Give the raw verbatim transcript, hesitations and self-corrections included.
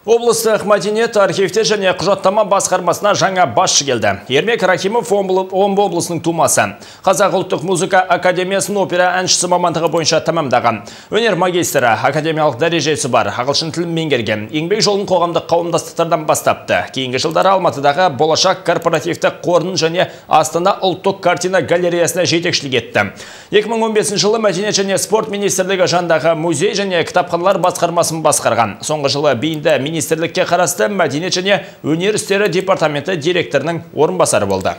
Облыстық мәдениет, архивтер және құжаттама басқармасына жаңа басшы келді. Ермек Рахимов Омбы облысының тумасы. Қазақ ұлттық музыка академиясының опера әншісі мамандығы бойынша тамамдаған. Өнер магистрі, академиялық дәрежесі бар, ағылшын тілін меңгерген. Еңбек жолын қоғамдық қауымдастықтардан бастапты. Кейінгі жылдары Алматыдағы Болашақ корпоративті қорын және Астана ұлттық картина галереясына жетекшілік етті. екі мың он бесінші жылы мәдениет және спорт министрлігі жанындағы музей және кітапханалар басқармасын басқарған. Соңғы жылы бейінді министрлікке қарасты мәдениет және өнер істері департаменті директорының орынбасары болды.